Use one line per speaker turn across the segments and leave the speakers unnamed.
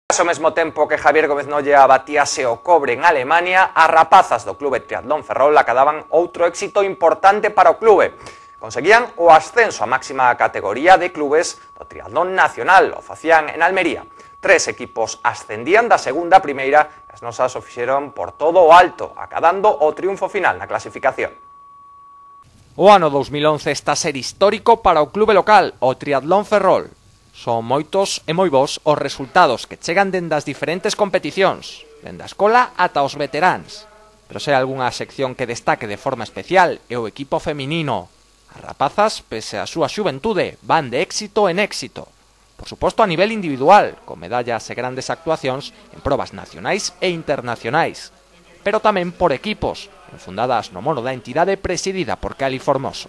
Ao mesmo tempo que Javier Gómez Nolla batíase o cobre en Alemania, as rapazas do Clube Triatlón Ferrol acadaban outro éxito importante para o clube. Conseguían o ascenso á máxima categoría de clubes do triatlón nacional, o facían en Almería. 3 equipos ascendían da segunda a primeira e as nosas o fixeron por todo o alto, acadando o triunfo final na clasificación.
O ano 2011 está a ser histórico para o clube local, o Triatlón Ferrol. Son moitos e moi bons os resultados que chegan dende as diferentes competicións, dende a escola ata os veteráns. Pero se hai algunha sección que destaque de forma especial é o equipo feminino. As rapazas, pese a súa xuventude, van de éxito en éxito. Por suposto a nivel individual, con medallas e grandes actuacións en probas nacionais e internacionais, pero tamén por equipos, enfundadas no mono da entidade presidida por Cali Formoso.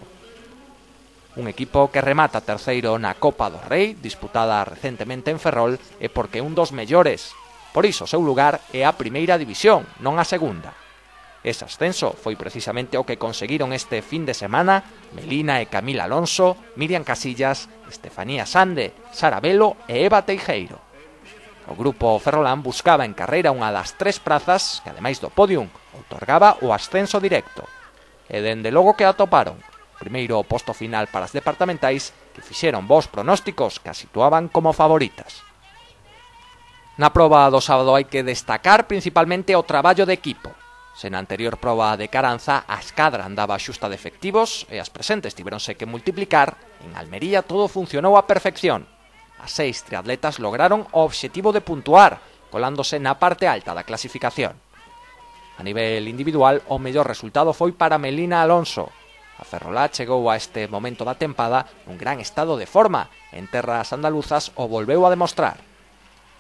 Un equipo que remata terceiro na Copa do Rei, disputada recentemente en Ferrol, é porque é un dos mellores. Por iso o seu lugar é a primeira división, non a segunda. Ese ascenso foi precisamente o que conseguiron este fin de semana Melina e Camila Alonso, Miriam Casillas, Estefanía Sande, Sara Velo e Eva Teijeiro. O grupo ferrolán buscaba en carreira unha das 3 prazas que, ademais do podium, outorgaba o ascenso directo. E dende logo que atoparon. Primeiro posto final para as departamentais que fixeron bons pronósticos que as situaban como favoritas. Na proba do sábado hai que destacar principalmente o traballo de equipo. Se na anterior proba de Caranza a escadra andaba xusta de efectivos e as presentes tiveronse que multiplicar, en Almería todo funcionou á perfección. As 6 triatletas lograron o obxectivo de puntuar, colándose na parte alta da clasificación. A nivel individual, o mellor resultado foi para Melina Alonso. A ferrolá chegou a este momento da tempada nun gran estado de forma, en terras andaluzas o volveu a demostrar.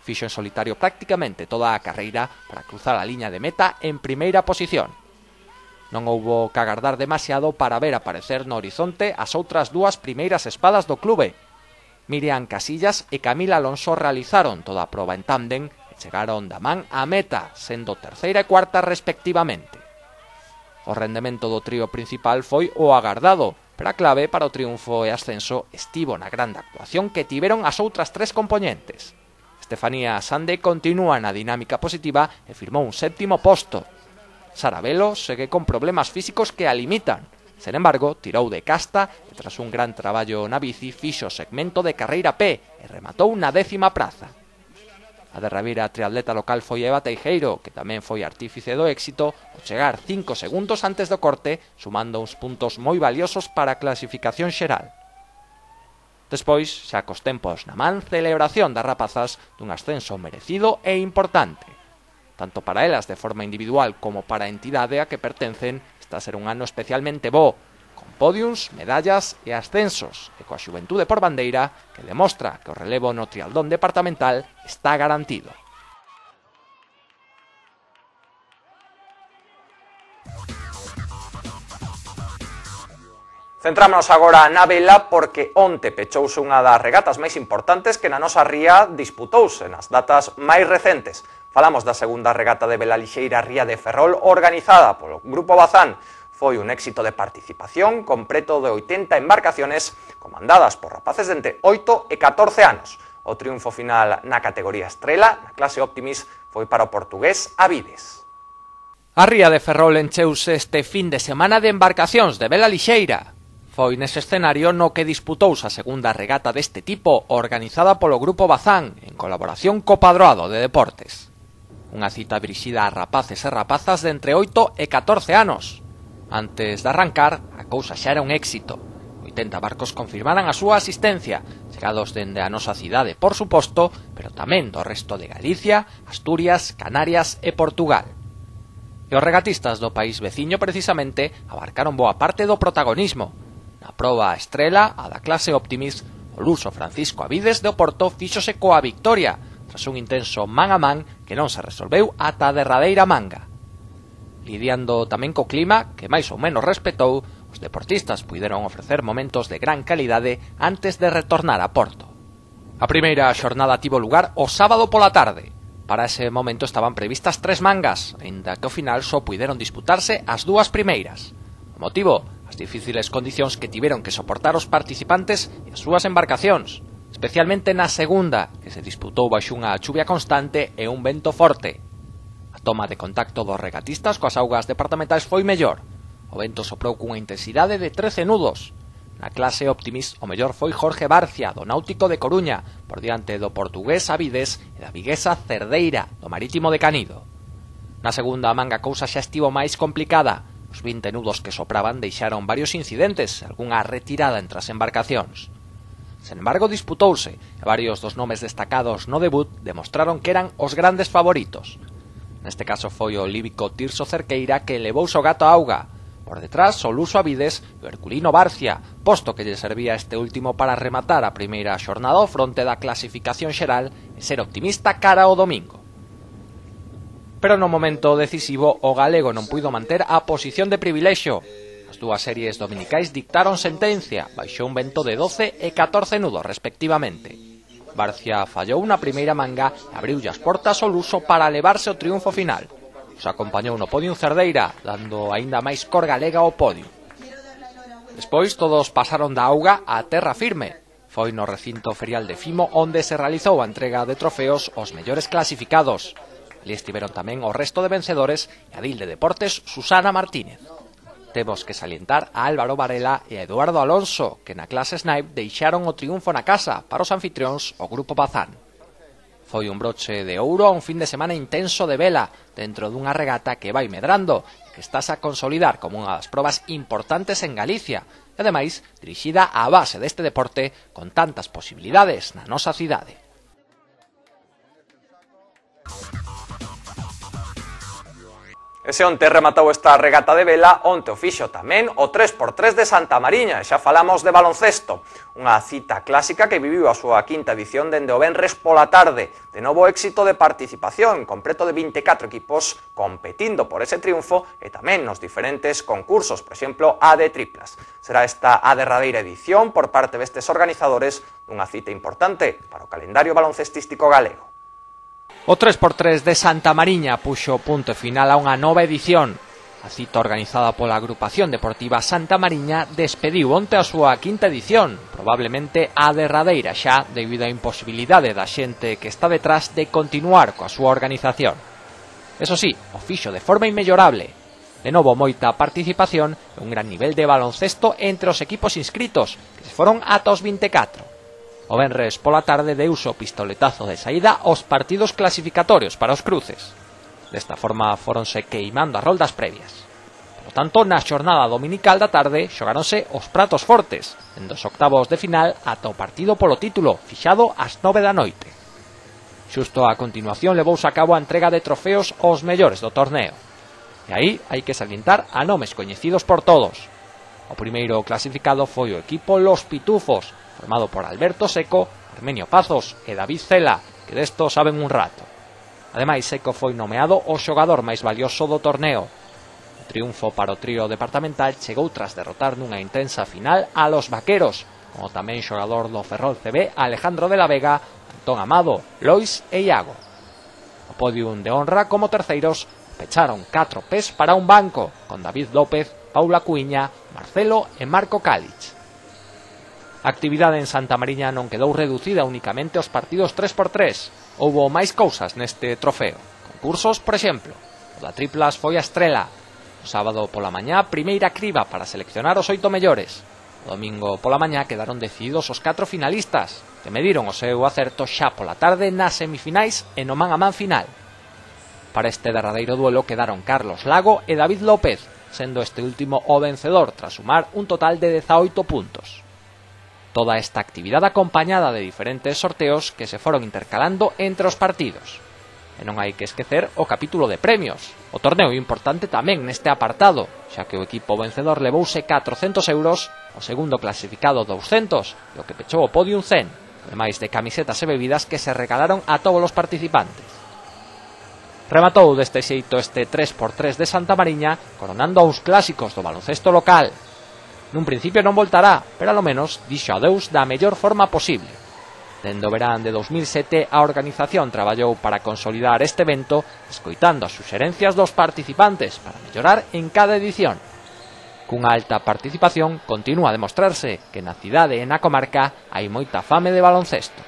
Fixo en solitario prácticamente toda a carreira para cruzar a liña de meta en primeira posición. Non houbo que agardar demasiado para ver aparecer no horizonte as outras 2 primeiras espadas do clube. Miriam Casillas e Camila Alonso realizaron toda a proba en tándem e chegaron da man á meta, sendo terceira e cuarta respectivamente. O rendemento do trío principal foi o agardado, pero a clave para o triunfo e ascenso estivo na grande actuación que tiveron as outras 3 compoñentes. Estefanía Sande continúa na dinámica positiva e firmou un 7º posto. Sara Velo segue con problemas físicos que a limitan. Sen embargo, tirou de casta e tras un gran traballo na bici fixo o segmento de carreira P e rematou na 10ª praza. A derradeira triatleta local foi Eva Teijeiro, que tamén foi artífice do éxito, ao chegar 5 segundos antes do corte, sumando uns puntos moi valiosos para a clasificación xeral. Despois, xa cos tempos na man, celebración das rapazas dun ascenso merecido e importante. Tanto para elas de forma individual como para a entidade a que pertencen, está a ser un ano especialmente bo, con podiums, medallas e ascensos, e coa xuventude por bandeira que demostra que o relevo no triatlón departamental está garantido.
Centrámonos agora na vela porque onte pechouse unha das regatas máis importantes que na nosa ría disputouse nas datas máis recentes. Falamos da segunda regata de vela lixeira Ría de Ferrol organizada polo Grupo Bazán. Foi un éxito de participación con preto de 80 embarcaciones comandadas por rapaces de entre 8 e 14 anos. O triunfo final na categoría estrela, na clase Optimis, foi para o portugués Avides.
A Ría de Ferrol encheuse este fin de semana de embarcacións de vela lixeira. Foi nese escenario no que disputouse a segunda regata deste tipo organizada polo Grupo Bazán en colaboración co Padroado de Deportes. Unha cita dirixida a rapaces e rapazas de entre 8 e 14 anos. Antes de arrancar, a cousa xa era un éxito. 80 barcos confirmaran a súa asistencia, chegados dende a nosa cidade, por suposto, pero tamén do resto de Galicia, Asturias, Canarias e Portugal. E os regatistas do país veciño precisamente abarcaron boa parte do protagonismo. Na proba estrela, a da clase Optimis, o luso Francisco Avides de Oporto fíxose coa victoria, tras un intenso man a man que non se resolveu ata a derradeira manga. Lidiando tamén co clima, que máis ou menos respetou, os deportistas puideron ofrecer momentos de gran calidade antes de retornar a Porto. A primeira xornada tivo lugar o sábado pola tarde. Para ese momento estaban previstas 3 mangas, aínda que ao final só puideron disputarse as 2 primeiras. O motivo, as difíciles condicións que tiveron que soportar os participantes e as súas embarcacións. especialmente na segunda, que se disputou baixo unha chuvia constante e un vento forte. A toma de contacto dos regatistas coas augas departamentais foi mellor. O vento soprou cunha intensidade de 13 nudos. Na clase Optimist o mellor foi Jorge Barcia, do Náutico de Coruña, por diante do portugués Avides e da viguesa Cerdeira, do Marítimo de Canido. Na segunda manga a cousa xa estivo máis complicada. Os 20 nudos que sopraban deixaron varios incidentes, algunha retirada entre as embarcacións. Sen embargo, disputouse, e varios dos nomes destacados no debut demostraron que eran os grandes favoritos. Neste caso foi o líbico Tirso Cerqueira que levouse o gato á auga. Por detrás, o luso Avides e o herculino Barcia, posto que lle servía este último para rematar a primeira xornada ao fronte da clasificación xeral e ser optimista cara ao domingo. Pero no momento decisivo o galego non puido manter a posición de privilexio. As dúas series dominicais dictaron sentencia, baixo un vento de 12 e 14 nudos respectivamente. Barcia fallou na primeira manga e abriulle as portas ao luso para levarse o triunfo final. Os acompañou no podio Cerdeira, dando aínda máis cor galega ao podio. Despois todos pasaron da auga á terra firme. Foi no recinto ferial de Fimo onde se realizou a entrega de trofeos aos mellores clasificados. Ali estiveron tamén o resto de vencedores e a Dil de Deportes Susana Martínez. Temos que salientar a Álvaro Varela e a Eduardo Alonso, que na clase Snipe deixaron o triunfo na casa para os anfitrións o Grupo Bazán. Foi un broche de ouro a un fin de semana intenso de vela, dentro dunha regata que vai medrando e que estás a consolidar como unha das probas importantes en Galicia, e ademais dirixida á base deste deporte con tantas posibilidades na nosa cidade.
Ese onte rematou esta regata de vela, onte o fixo tamén o 3x3 de Santa Mariña, e xa falamos de baloncesto. Unha cita clásica que viviu a súa quinta edición dende o venres pola tarde. De novo éxito de participación, completo de 24 equipos competindo por ese triunfo e tamén nos diferentes concursos, por exemplo, a de triplas. Será esta a derradeira edición por parte destes organizadores dunha cita importante para o calendario baloncestístico galego.
O 3x3 de Santa Mariña puxo punto final a unha nova edición. A cita organizada pola agrupación deportiva Santa Mariña despediu onte a súa quinta edición, probablemente a derradeira xa debido á imposibilidade da xente que está detrás de continuar coa súa organización. Eso sí, o fixo de forma inmellorable. De novo moita participación e un gran nivel de baloncesto entre os equipos inscritos, que se foron ata os 24. O venres pola tarde deuse o pistoletazo de saída aos partidos clasificatorios para os cruces. Desta forma foronse queimando as roldas previas. Por tanto, na xornada dominical da tarde xogaronse os pratos fortes, en dos octavos de final ata o partido polo título, fixado ás 9 da noite. Xusto a continuación levouse a cabo a entrega de trofeos aos mellores do torneo. E aí hai que salientar a nomes coñecidos por todos. O primeiro clasificado foi o equipo Los Pitufos, formado por Alberto Seco, Armenio Pazos e David Cela, que desto saben un rato. Ademais, Seco foi nomeado o xogador máis valioso do torneo. O triunfo para o trío departamental chegou tras derrotar nunha intensa final a los Vaqueros, como tamén xogador do Ferrol CB Alejandro de la Vega, Antón Amado, Lois e Iago. O podium de honra como terceiros pecharon 4 pés para un banco, con David López, Paula Cuiña, Marcelo e Marco Cálich. A actividade en Santa Mariña non quedou reducida únicamente aos partidos 3x3. Houbo máis cousas neste trofeo. Concursos, por exemplo, o da triplas foi a estrela. O sábado pola mañá, primeira criba para seleccionar os 8 mellores. O domingo pola mañá quedaron decididos os 4 finalistas, que mediron o seu acerto xa pola tarde nas semifinais e no man a man final. Para este derradeiro duelo quedaron Carlos Lago e David López, sendo este último o vencedor tras sumar un total de 18 puntos. Toda esta actividade acompañada de diferentes sorteos que se foron intercalando entre os partidos. E non hai que esquecer o capítulo de premios. O torneo importante tamén neste apartado, xa que o equipo vencedor levouse 400 euros, o segundo clasificado 200 e o que pechou o podium 100, ademais de camisetas e bebidas que se regalaron a todos os participantes. Rematou deste xeito este 3x3 de Santa Mariña, coronando aos clásicos do baloncesto local. Nun principio non voltará, pero alo menos dixo adeus da mellor forma posible. Dende o verán de 2007, a organización traballou para consolidar este evento, escoitando as suxerencias dos participantes para mellorar en cada edición. Cunha alta participación continúa a demostrarse que na cidade e na comarca hai moita fame de baloncesto.